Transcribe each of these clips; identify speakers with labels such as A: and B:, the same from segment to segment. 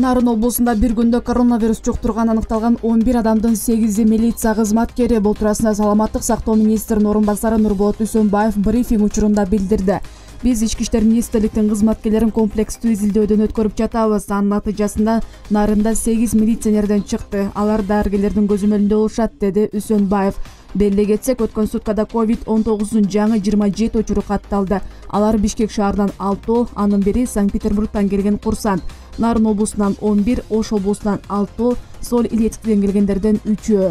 A: Нарын облусунда бир күндө коронавирус жуктурган аныкталган 11 адамдын 8-и милиция кызматкери. Бул туурасында Саламаттык сактоо министринин орун басары Нурболот Үсөнбаев брифинг учурунда билдирди. Биз Ички иштер министрликтин кызматкерлерин комплекстүү изилдөөдөн өткөрүп жатабыз. Анын натыйжасында Нарында 8 милиционерден чыкты. Алар дарыгерлердин көзөмөлүндө болушат, деди Үсөнбаев. Беле кетсек, өткөн суткада COVID-19 жаңы 27 учуру катталды. Алар Бишкек шаарынан 6, анын бири Санкт-Петербургтан келген курсант. Нарын облусунан 11, Ош облусунан 6, Сол Илецктен келгендерден 3.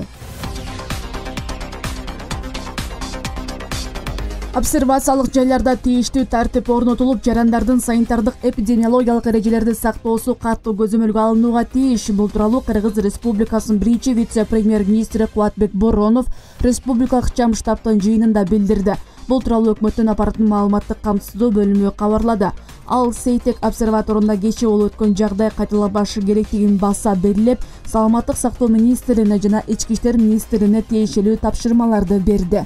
A: Обсервациялык жайларда тийиштүү тартип орнотулуп, жарандардын санитардык эпидемиологиялык эрежелерди сактоосу катуу көзөмөлгө алынууга тийиш. Бул тууралуу Кыргыз Республикасынын биринчи вице-премьер-министри Кубатбек Боронов республикалык ички штабтын жыйынында билдирди. Бул тууралуу өкмөттүн аппараттын маалыматтык камсыздоо бөлүмү кабарлады. Ал Сейтек обсерваторунда кечээ болуп өткөн жагдай кайталанбашы керектигин баса белгилеп, Саламаттык сактоо министрине жана Ички иштер министрине тиешелүү тапшырмаларды берди.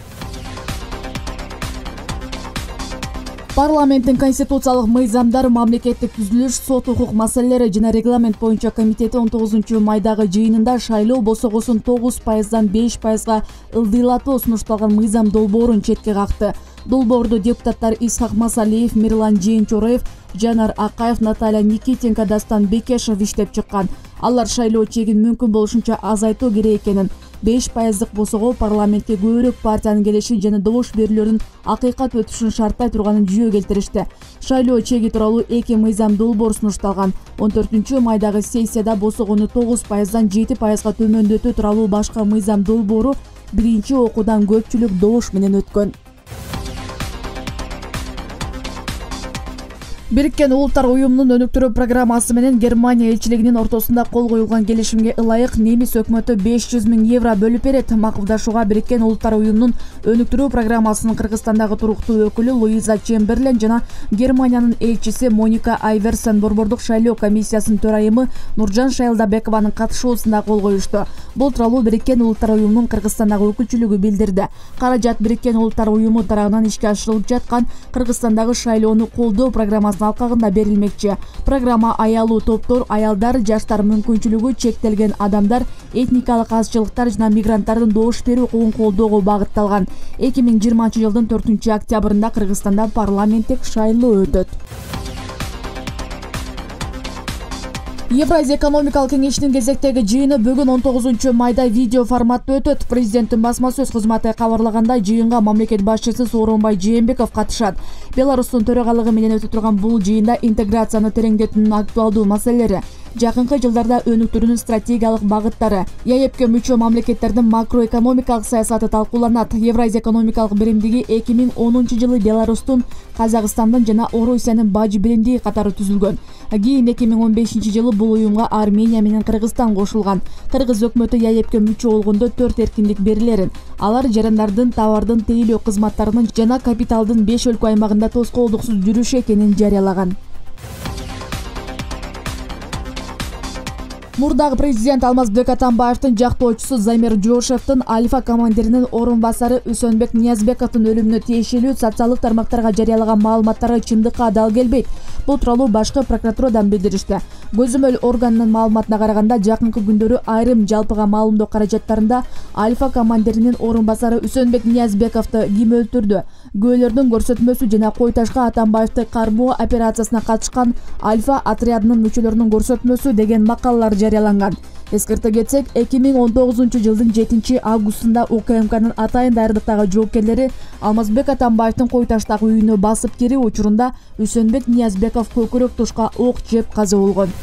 A: Парламенттин конституциялык мыйзамдар, мамлекеттик түзүлүш, сот укук маселелери жана регламент боюнча комитети 19 майдагы жыйынында шайлоо босогосун 9%дан 5%га ылдыйлатуу сунушталган мыйзам долбоорун четке какты. Долбоорду депутаттар Исхак Масалиев, Мирлан Жээнчороев, Жанар Акаев, Наталья Никитенко, Дастан Бекешев иштеп чыккан. Алар шайлоо чегин мүмкүн болушунча азайтуу керек экенин, 5%дык босого парламентке көбүрөөк партиянын келишин жана добуш берүүлөрдүн акыйкат өтүшүн шарттай турганын жүйө келтиришти. Шайлоо чеги тууралуу 2 мыйзам долбоор сунушталган. 14 майдагы сессияда босогону 9%дан 7%га төмөндөтүү тууралуу башка мыйзам долбоору биринчи окуудан көпчүлүк добуш менен өткөн. Бириккен Улуттар уюмунун өнүктүрүү программасы менен Германия элчилигинин ортосунда кол коюлган келишимге ылайык немис өкмөтү 500 000 евро бөлүп берет. Макулдашууга Бириккен Улуттар уюмунун өнүктүрүү программасынын Кыргызстандагы туруктуу өкүлү Луиза Чемберлен жана Германиянын элчиси Моника Айверсен борбордук шайлоо комиссиясынын төрайымы Нуржан Шайлдабекованын катышуусунда кол коюшту. Бул тууралуу Бириккен Улуттар уюмунун Кыргызстандагы өкүлчүлүгү билдирди. Каражат Бириккен Улуттар уюму тарабынан ишке ашырылып жаткан Кыргызстандагы шайлоону колдоо программасына алкагында берилмекчи. Программа аялуу топтор, аялдар, жаштар, мүмкүнчүлүгү чектелген адамдар, этникалык азчылыктар жана мигранттардын добуш берүү укугун колдоого багытталган. 2020 жылдын 4 октябрында Кыргызстанда парламенттик шайлоо өтөт. Евразия экономикалык кеңешинин кезектеги жыйыны бүгүн 19 майда видео форматта өтөт. Президенттин басма сөз кызматы кабарлагандай, жыйынга мамлекет башчысы Сооронбай Жээнбеков катышат. Беларустун төрагалыгы менен өтө турган бул жыйында интеграцияны тереңдетүүнүн актуалдуу маселелери, жакынкы жылдарда өнүктүрүүнүн стратегиялык багыттары, ЕАЭПке мүчө мамлекеттердин макроэкономикалык саясаты талкууланат. Евразия экономикалык биримдиги 2010 жылы Беларустун, Казакстандын жана Орусиянын бажы биримдиги катары түзүлгөн. Кийин 2015 жылы бул уюмга Армения менен Кыргызстан кошулган. Кыргыз өкмөтү ЕАЭПке мүчө болгондо 4 эркиндик берилерин. Алар жарандардын, товардын, тейлөө кызматтарынын жана капиталдын 5 өлкө аймагында тоскоолдуксуз жүрүшү экенин жарыялаган. Мурдагы президент Алмазбек Атамбаевдин жактоочусу Замир Жошевдин Альфа командиринин орун басары Үсөнбек Ниязбековдун өлүмүнө тиешелүү социалдык тармактарга жарыялаган маалыматтары чындыкка дал келбейт. Бул тууралуу башкы прокуратурадан билдиришти. Көзөмөл органынын маалыматына караганда, жакынкы күндөрү айрым жалпыга маалымдоо каражаттарында Альфа командиринин орун басары Үсөнбек Ниязбековду ким өлтүрдү, күбөлөрдүн көрсөтмөсү жана Кой Ташка Атамбаевди кармоо операциясына катышкан Альфа отрядынын мүчөлөрүнүн көрсөтмөсү деген макалалар жарыяланган. Эскерте кетсек, 2019 жылдын 7 августунда УКМКнын атайын даярдыктагы жоопкерлери Алмазбек Атамбаевдин Кой Таштагы үйүнө басып кирүү учурунда Үсөнбек Ниязбеков көкүрөк тушка ок жеп каза болгон.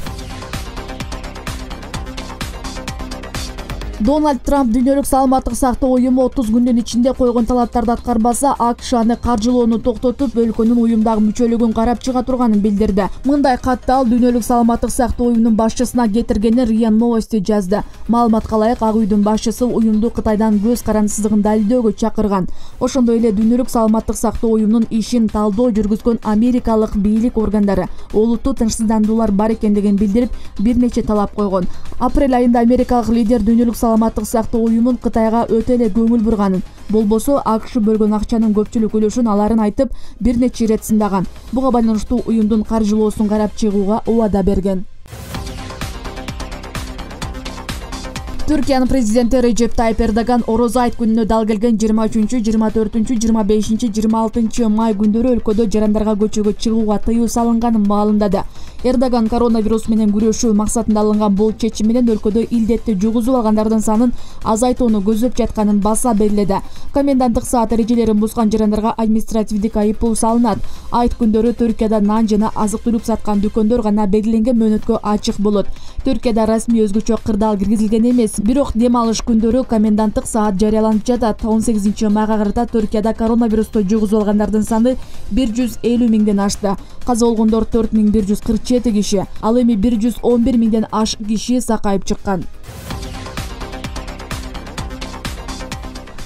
A: Дональд Трамп дүйнөлүк саламаттык сактоо уюму 30 күндүн ичинде койгон талаптарды аткарбаса, АКШ аны каржылоону токтотуп, өлкөнүн уюмдагы мүчөлүгүн карап чыга турганын билдирди. Мындай катты ал дүйнөлүк саламаттык сактоо уюмунун башчысына кетиргенин РИА Новости жазды. Маалыматка ылайык, Ак үйдүн башчысы уюмду Кытайдан көз карандысыздыгын далилдөөгө чакырган. Ошондой эле дүйнөлүк саламаттык сактоо уюмунун ишин талдоо жүргүзгөн америкалык бийлик органдары олуттуу тынчсыздандуулар бар экендигин билдирип, бир нече талап койгон. Апрель айында америкалык лидер дүйнөлүк саламаттык сактоо уюмун Кытайга өтө эле көңүл бурганын, болбосо АКШ бөлгөн акчанын көпчүлүк үлүшүн аларын айтып, бир нече ирет сындаган. Буга байланыштуу уюмдун каржылоосун карап чыгууга убада берген. Түркиянын президенти Режеп Тайип Эрдоган орозо айт күнүнө дал келген 23, 24, 25, 26 май күндөрү өлкөдө жарандарга көчөгө чыгууга тыюу салынганын маалымдады. Эрдоган коронавирус менен күрөшүү максатында алынган бул чечим менен өлкөдө илдетти жугузуп алгандардын санын азайтууну көздөп жатканын баса белгиледи. Коменданттык саат эрежелерин бузган жарандарга административдик айыппул салынат. Айт күндөрү Түркияда нан жана азык-түлүк саткан дүкөндөр гана белгиленген мөөнөткө ачык болот. Түркияда расмий өзгөчө кырдаал киргизилген эмес. Бирок дем алыш күндөрү коменданттык саат жарыяланып жатат. 18 майга карата Түркияда коронавирусту жугузуп алгандардын саны 150 миңден ашты. Каза болгондор 4147 киши. Ал эми 111 миңден ашык киши сакайып чыккан.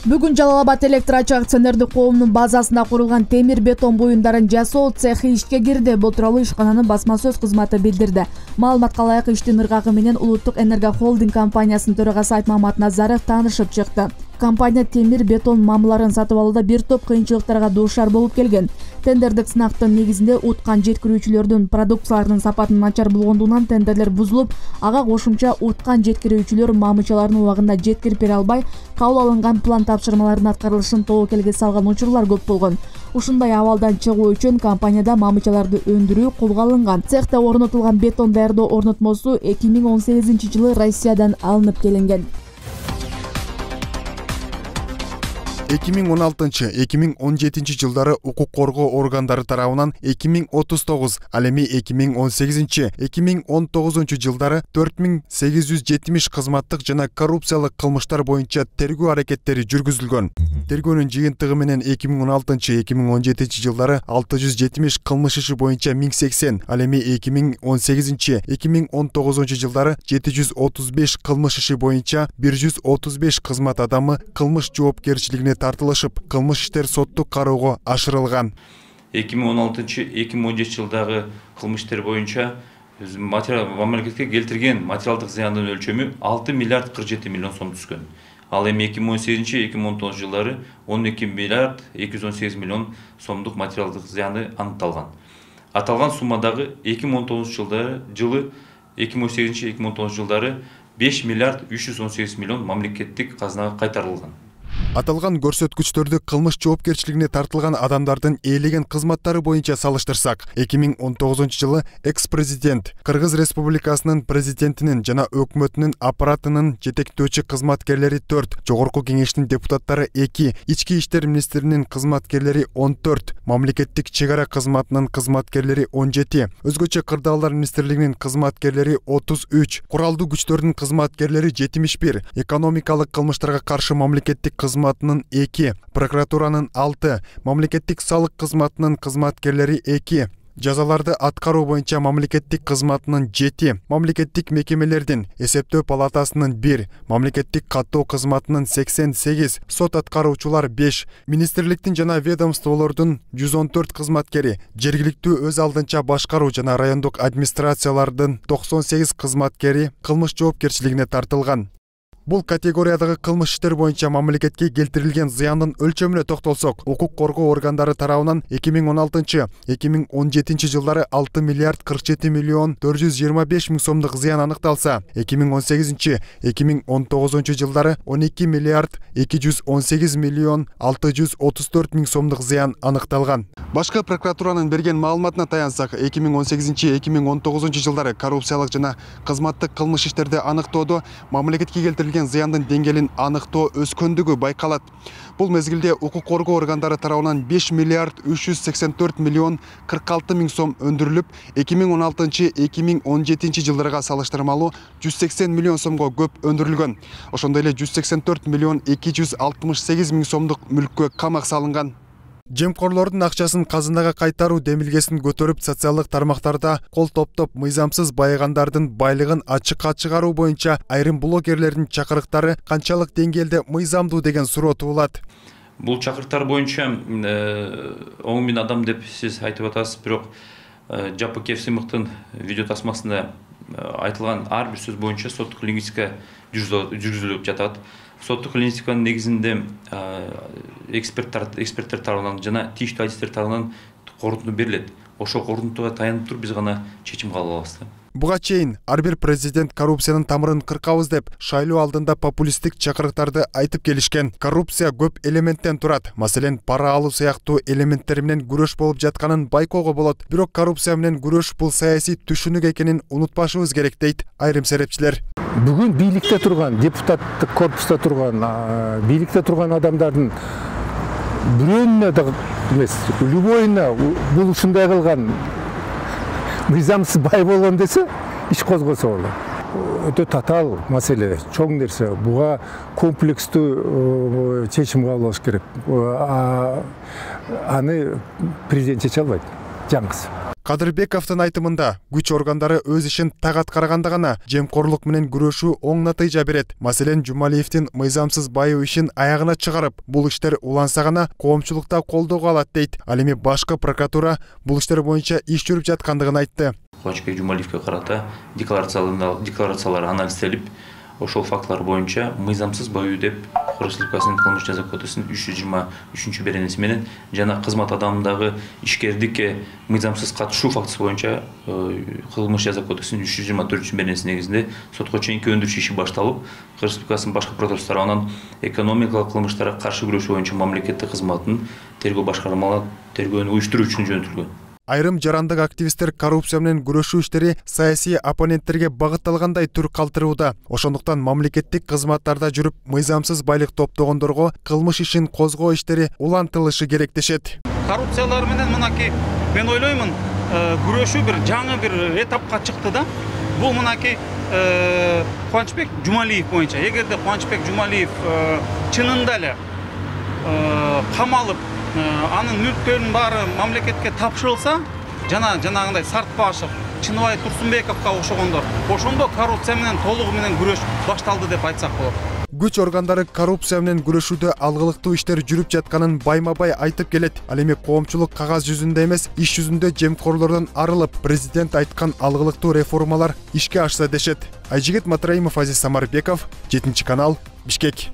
A: Бүгүн Жалал Абад электр ачык акционердик коомунун базасында курулган темир бетон буюмдарын жасоо цехи ишке кирди. Бул тууралуу ишкананын басма сөз кызматы билдирди. Маалыматка ылайык иштин ыргагы менен Улуттук энерго холдинг компаниясынын төрагасы Айтмамат Назаров таанышып чыкты. Компания темир бетон мамыларын сатып алууда бир топ кыйынчылыктарга дуушар болуп келген. Тендердик сынактын негизинде уткан жеткирүүчүлөрдүн продукцияларынын сапатынын начар болгондугунан тендерлер бузулуп, ага кошумча уткан жеткирүүчүлөр мамычаларын убагында жеткирип бере албай, кабыл алынган план тапшырмаларынын аткарылышын тобокелге салган учурлар көп болгон. Ушундай абалдан чыгуу үчүн компанияда мамычаларды өндүрүү колго алынган. Цехте орнотулган бетон даярдоо орнотмосу 2018-жылы Россиядан алынып келинген.
B: 2016-2017 жылдары укук коргоо органдары тарабынан 2039, ал эми 2018-2019 жылдары 4870 кызматтык жана коррупциялык кылмыштар боюнча тергөө аракеттери жүргүзүлгөн. Тергөөнүн жыйынтыгы менен 2016-2017 жылдары 670 кылмыш иши боюнча 1080, ал эми 2018-2019 жылдары 735 кылмыш иши боюнча 135 кызмат адамы кылмыш жоопкерчилигине тартылышып, кылмыш иштер соттук кароого ашырылган.
C: 2016-2017 жылдагы кылмыш иштер боюнча мамлекетке келтирген материалдык зыяндын өлчөмү 6 миллиард 47 миллион сом түшкөн. Ал эми 2018-2019 жылдары 12 миллиард 218 миллион сомдук материалдык зыянды аныкталган. Аталган суммадагы 2019 жылы 2018-2019 жылдары 5 миллиард 318 миллион мамлекеттик казынага кайтарылган.
B: Аталган көрсөткүчтөрдү кылмыш жоопкерчилигине тартылган адамдардын ээлеген кызматтары боюнча салыштырсак, 2019 жылы экс-президент, Кыргыз Республикасынын президентинин жана өкмөтүнүн аппаратынын жетектөөчү кызматкерлери 4, Жогорку кеңештин депутаттары 2, Ички иштер министринин кызматкерлери 14, мамлекеттик чек ара кызматынын кызматкерлери 17, өзгөчө кырдаалдар министрлигинин кызматкерлери 33, куралдуу күчтөрдүн кызматкерлери 71, экономикалык кылмыштарга каршы мамлекеттик кызматынын 2, прокуратуранын 6, мамлекеттик салык кызматынын кызматкерлери 2, жазаларды аткаруу боюнча мамлекеттик кызматынын 7, мамлекеттик мекемелердин эсептөө палатасынын 1, мамлекеттик каттоо кызматынын 88, сот аткаруучулар 5, министрликтин жана ведомстволордун 114 кызматкери, жергиликтүү өз алдынча башкаруу жана райондук администрациялардын 98 кызматкери кылмыш жоопкерчилигине тартылган. Бул категориядагы кылмыш иштер боюнча мамлекетке келтирилген зыяндын өлчөмүнө токтолсок, укук коргоо органдары тарабынан 2016-2017 жылдары 6 миллиард 47 миллион 425 миң сомдук зыян аныкталса, 2018-2019 жылдары 12 миллиард 218 миллион 634 миң сомдук зыян аныкталган. Башкы прокуратуранын берген маалыматына таянсак, 2018-2019 жылдары коррупциялык жана кызматтык кылмыш иштерди аныктоодо мамлекетке келтирилген зыяндын деңгээлин аныктоо өскөндүгү байкалат. Бул мезгилде укук коргоо органдары тарабынан 5 миллиард 384 миллион 46 миң сом өндүрүлүп, 2016-2017 жылдарга салыштырмалуу 180 миллион сомго көп өндүрүлгөн. Ошондой эле 184 миллион 268 миң сомдук мүлккө камак салынган. Жемкорлордун акчасын казынага кайтаруу демилгесин көтөрүп, социалдык тармактарда кол топтоп мыйзамсыз байыгандардын байлыгын ачыкка чыгаруу боюнча айрым блогерлердин чакырыктары канчалык деңгээлде мыйзамдуу деген суроо туулат.
C: Бул чакырыктар боюнча оң мен адам деп сиз айтып атасыз, бирок Жапыкев Сыймыктын видео тасмасында айтылган ар бир сөз боюнча соттук лингвистика жүргүзүлүп жатат. Соттук лингвистиканын негизинде эксперттер тарабынан жана тийиштүү адистер тарабынан корутунду берилет. Ошол корутундуга таянып туруп биз гана чечим кабыл алабыз.
B: Буга чейин ар бир президент коррупциянын тамырын кыркабыз деп шайлоо алдында популисттик чакырыктарды айтып келишкен. Коррупция көп элементтен турат. Маселен, пара алуу сыяктуу элементтер менен күрөш болуп жатканын байкоого болот. Бирок коррупция менен күрөш бул саясий түшүнүк экенин унутпашыбыз керек дейт айрым серепчилер.
D: Бүгүн бийликте турган, депутаттык корпуста турган, бийликте турган адамдардын бирөөнүнө да эмес, любойуна бул ушундай кылган мыйзамсыз бай болгон десе, иш козгосо болот. Өтө татаал маселе, чоң нерсе. Буга комплекстүү чечим кабыл алыш керек. Аны президент чече албайт, жаңгысы.
B: Кадырбековдун айтымында күч органдары өз ишин так аткарганда гана жемкорлук менен күрөшүү оң натыйжа берет. Маселен, Жумалиевдин мыйзамсыз байуу ишин аягына чыгарып, бул иштер уланса гана коомчулукта колдоого алат дейт. Ал эми башкы прокуратура бул иштер боюнча иш жүрүп жаткандыгын айтты.
C: Кубанычбек Жумалиевге карата декларациялар анализделип, ошол фактылар боюнча мыйзамсыз байуу деп Кыргыз Республикасынын кылмыш жаза кодексинин 323 беренеси менен жана кызмат адамындагы ишкердикке мыйзамсыз катышуу фактысы боюнча кылмыш жаза кодексинин 324 беренеси негизинде сотко чейинки өндүрүш иши башталып, Кыргыз Республикасынын башкы прокуратурасы тарабынан экономикалык кылмыштарга каршы күрөшүү боюнча мамлекеттик кызматтын тергөө башкармалары тергөөнү уюштуруу үчүн жөнөтүлгөн.
B: Айрым жарандык активисттер коррупция менен күрөшүү иштери саясий оппоненттерге багытталгандай түр калтырууда. Ошондуктан мамлекеттик кызматтарда жүрүп мыйзамсыз байлык топтогондорго кылмыш ишин козгоо иштери улантылышы керек дешет.
E: Коррупциялар менен мынакей мен ойлоймун, күрөшүү бир жаңы бир этапка чыкты да. Бул мынакей Кубанычбек Жумалиев боюнча. Эгерде Кубанычбек Жумалиев чынында эле камалып, анын мүлктөрүнүн баары мамлекетке тапшырылса, жанагындай Сартбашев, Чыныбай Турсунбековго окшогондор, ошондо коррупция менен толугу менен күрөш башталды деп айтсак болот.
B: Күч органдары коррупция менен күрөшүүдө алгылыктуу иштер жүрүп жатканын байма-бай айтып келет. Ал эми коомчулук кагаз жүзүндө эмес, иш жүзүндө жемкорлордон арылып, президент айткан алгылыктуу реформалар ишке ашса дешет. Айжигит Матраимов, Азиз Самарбеков, 7 канал, Бишкек.